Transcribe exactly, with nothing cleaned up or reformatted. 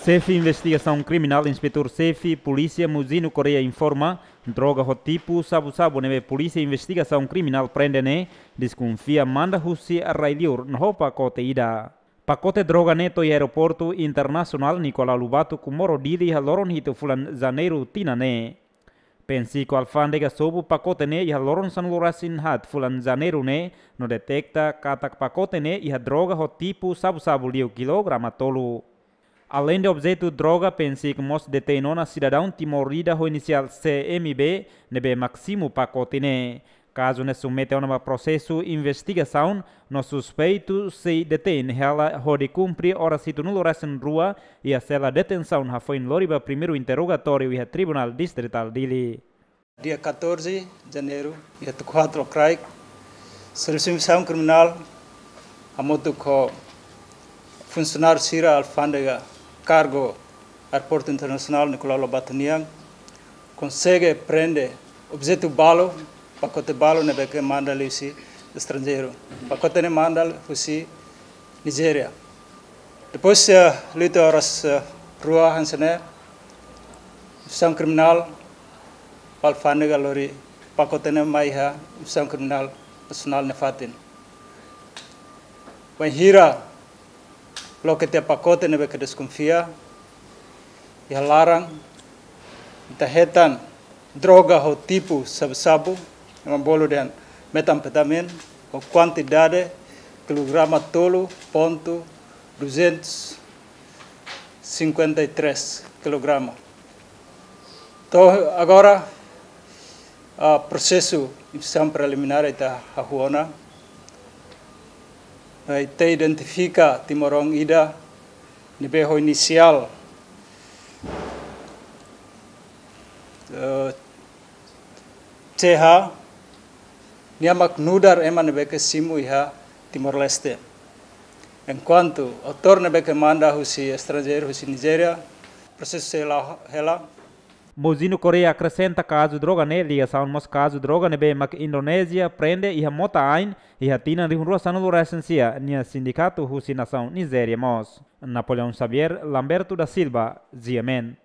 Xefe Investigasaun Kriminál, Inspetór Xefe Polísia Muzino Correia informa, droga ho tipu sabu-sabu ne'ebé Polísia Investigasaun Kriminál prende ne'e deskonfia manda husi rai-liur no ho pakote ida. Pakote droga ne'e to'o iha Aeroportu Internasionál Nicolau Lobato Comoro Dili iha loron hitu fulan Janeiru tinan ne'e. Pensiku Alfándega sobu pakote ne'e iha loron sanulu-resin-haat fulan Janeiru ne'e no deteta katak pakote ne'e iha droga ho tipu sabu-sabu liu kilograma tolu. Aleinde objetu droga, Pensiku mós detein ona sidadaun Timor ida ho inisiál C M B ne'ebé mak simu pakote ne'e. Kazu ne'e submete ona ba prosesu investigasaun no suspeitu sei detein hela hodi kumpre oras hitunulu-resin-rua iha sela detensaun hafoin lori ba primeiru interrogatóriu iha Tribunál Distritál Dili. Dia catorze de janeiro, iha tuku haat lokraik, Servisu Investigasaun Kriminál hamutuk ho funsionáriu sira Alfándega Kargu Aeroportu Internasionál Nicolau Lobato nian konsege prende objetu balu, pakote balu ne'ebé ke manda liuhusi estranjeiru. Pakote ne'e manda husi Nijéria. Depois, eh, liu to'o oras, eh, rua hanesan ne'e, Investigasaun Kriminál ba Alfándega lori pakote ne'e mai iha Investigasaun Kriminál Nasionál nia fatin. Bainhira loke tiha pakote ne'ebé ke deskonfia, iha laran ita hetan droga ho tipu sabu-sabu, ema bolu dehan metanfetamina, ho kuantidade kilograma tolu ponto duzentos cinquenta e três kilograma. To'o agora, ah, prosesu investigasaun preliminár ita hahú ona. Ita identifika timoroan ida ne'ebé ho inisiál, eh, C H, nia mak nu'udar ema ne'ebé ke simu iha Timor-Leste. Enkuantu autór ne'ebé ke manda husi estranjeiru, husi Nijéria, prosesu sei la'o hela. Muzino Correia akresenta kazu droga ne'e ligasaun mós kazu droga ne'ebé mak Indonézia prende iha mota-ain iha tinan rihun rua sanulu-resin-sia nia sindikatu husi nasaun Nijéria mós. Napoleão Xavier, Lamberto da Silva, G M N.